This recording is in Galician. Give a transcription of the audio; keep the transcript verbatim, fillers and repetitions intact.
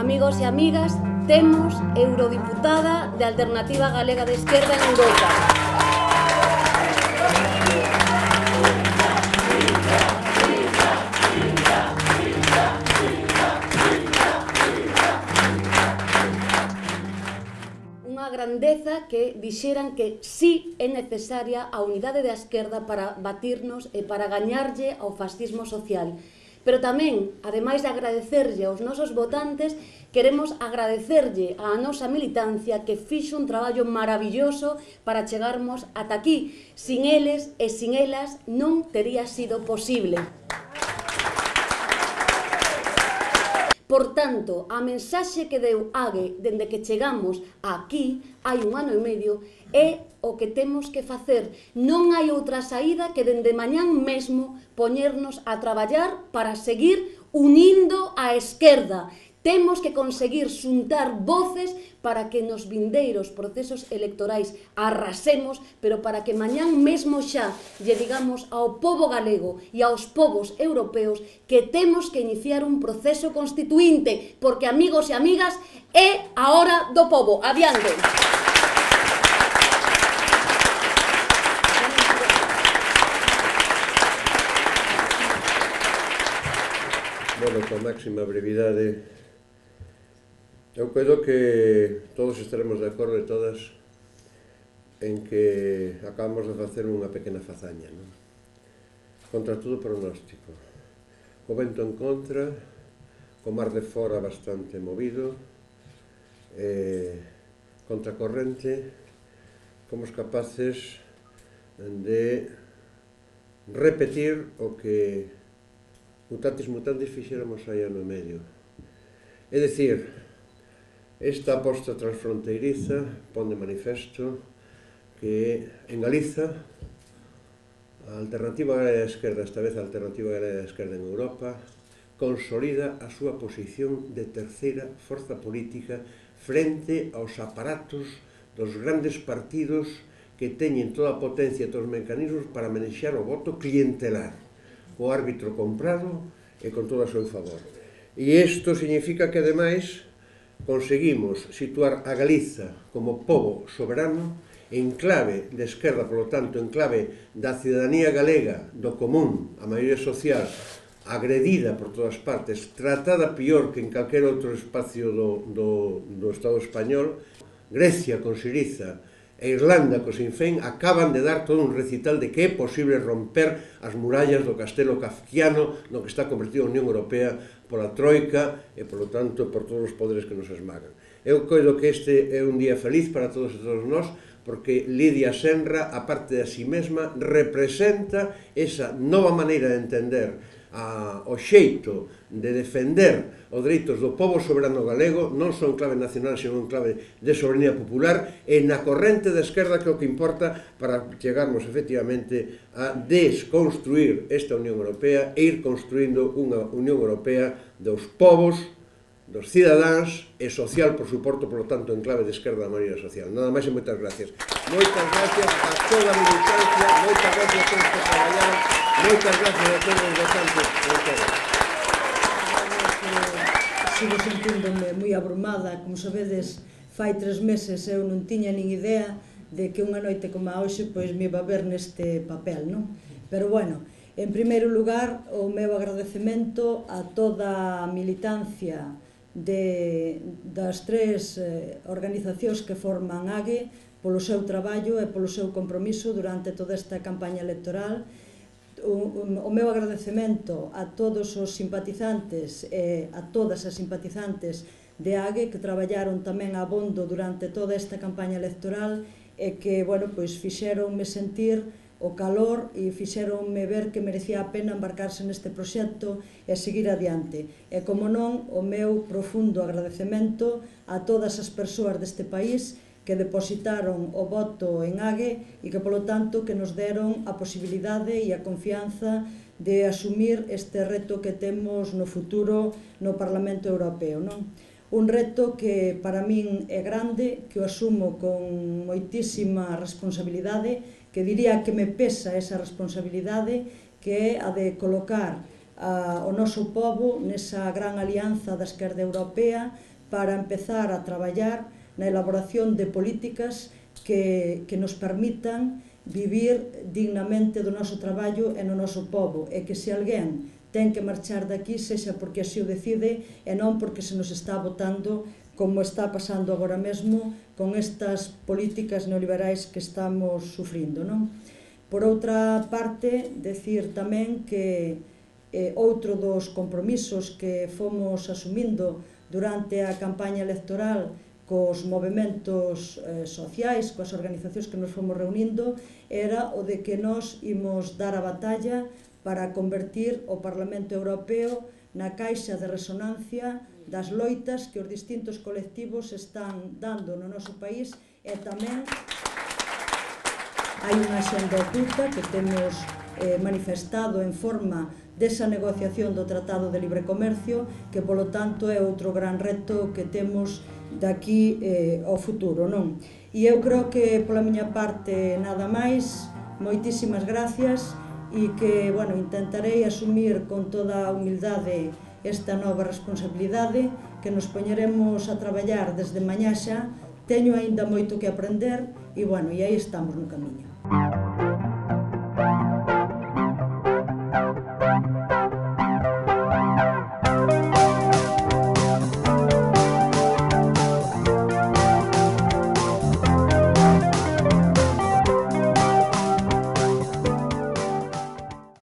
Amigos e amigas, temos eurodiputada de Alternativa Galega de Esquerda en Europa. Unha grandeza que dixeran que sí é necesaria a unidade da esquerda para batirnos e para gañarlle ao fascismo social. Pero tamén, ademais de agradecerlle aos nosos votantes, queremos agradecerlle á nosa militancia que fixo un traballo maravilloso para chegarmos ata aquí. Sin eles e sin elas non tería sido posible. Por tanto, a mensaxe que deu Age dende que chegamos aquí, hai un ano e medio, é o que temos que facer. Non hai outra saída que dende mañán mesmo poñernos a traballar para seguir unindo a esquerda. Temos que conseguir xuntar voces para que nos vindeiros procesos electorais arrasemos, pero para que mañán mesmo xa lle digamos ao pobo galego e aos povos europeos que temos que iniciar un proceso constituínte, porque, amigos e amigas, é a hora do pobo. Adiante! Bueno, con máxima brevidade, eu creo que todos estaremos de acordo e todas en que acabamos de facer unha pequena fazaña, non? Contra todo pronóstico, co vento en contra, co mar de fora bastante movido, eh, contra corrente, fomos capaces de repetir o que mutatis mutandis fixéramos hai ano e medio. É dicir, esta aposta transfronteiriza pon de manifesto que en Galiza a Alternativa Galega de Esquerda, esta vez a Alternativa Galega de Esquerda en Europa, consolida a súa posición de terceira forza política frente aos aparatos dos grandes partidos que teñen toda a potencia e todos os mecanismos para manexar o voto clientelar, o árbitro comprado e con todo a seu favor. E isto significa que, ademais, conseguimos situar a Galiza como pobo soberano en clave de esquerda, polo tanto, en clave da cidadanía galega, do común, a maioría social, agredida por todas partes, tratada pior que en calquer outro espacio do, do, do Estado español. Grecia con Siriza e Irlanda co Sinn Féin acaban de dar todo un recital de que é posible romper as murallas do castelo kafkiano no que está convertido a Unión Europea pola Troika e, polo tanto, por todos os poderes que nos esmagan. Eu coido que este é un día feliz para todos e todos nós, porque Lidia Senra, a parte de a si mesma, representa esa nova maneira de entender a, o xeito de defender os dereitos do pobo soberano galego, non só en clave nacional, sino en clave de soberanía popular, e na corrente da esquerda, que é o que importa para chegarmos efectivamente a desconstruir esta Unión Europea e ir construindo unha Unión Europea dos povos, dos cidadáns e social, por suporto, por lo tanto, en clave de esquerda da maioría social. Nada máis e moitas gracias. Moitas gracias a toda a militancia, moitas gracias a todos que traballaron, moitas gracias a todos os votantes. Sigo sentíndome moi abrumada. Como sabedes, fai tres meses eu non tiña nin idea de que unha noite como a hoxe pois me iba a ver neste papel, non? Pero bueno, en primeiro lugar, o meu agradecemento a toda a militancia de, das tres eh, organizacións que forman Age polo seu traballo e polo seu compromiso durante toda esta campaña electoral. O, o meu agradecemento a todos os simpatizantes e a todas as simpatizantes de Age que traballaron tamén abondo durante toda esta campaña electoral e que, bueno, pois fixeronme sentir o calor e fixeronme ver que merecía a pena embarcarse neste proxecto e seguir adiante. E, como non, o meu profundo agradecemento a todas as persoas deste país que depositaron o voto en Age e que, polo tanto, que nos deron a posibilidade e a confianza de asumir este reto que temos no futuro no Parlamento Europeo, non? Un reto que para min é grande, que o asumo con moitísima responsabilidade, que diría que me pesa esa responsabilidade, que é a de colocar a, o noso pobo nesa gran alianza da esquerda europea para empezar a traballar na elaboración de políticas que, que nos permitan vivir dignamente do noso traballo e no noso pobo, e que se alguén ten que marchar daqui sexa porque así o decide e non porque se nos está botando como está pasando agora mesmo con estas políticas neoliberais que estamos sufrindo, non? Por outra parte, decir tamén que eh, outro dos compromisos que fomos asumindo durante a campaña electoral cos movementos eh, sociais, coas organizacións que nos fomos reunindo, era o de que nós imos dar a batalla para convertir o Parlamento Europeo na caixa de resonancia das loitas que os distintos colectivos están dando no noso país, e tamén hai unha axenda oculta que temos eh, manifestado en forma desa negociación do Tratado de Libre Comercio, que polo tanto é outro gran reto que temos daqui eh, ao futuro, non? E eu creo que pola miña parte nada máis, moitísimas gracias, e que, bueno, intentarei asumir con toda a humildade esta nova responsabilidade, que nos poñeremos a traballar desde mañá xa. Teño aínda moito que aprender e, bueno, e aí estamos no camiño.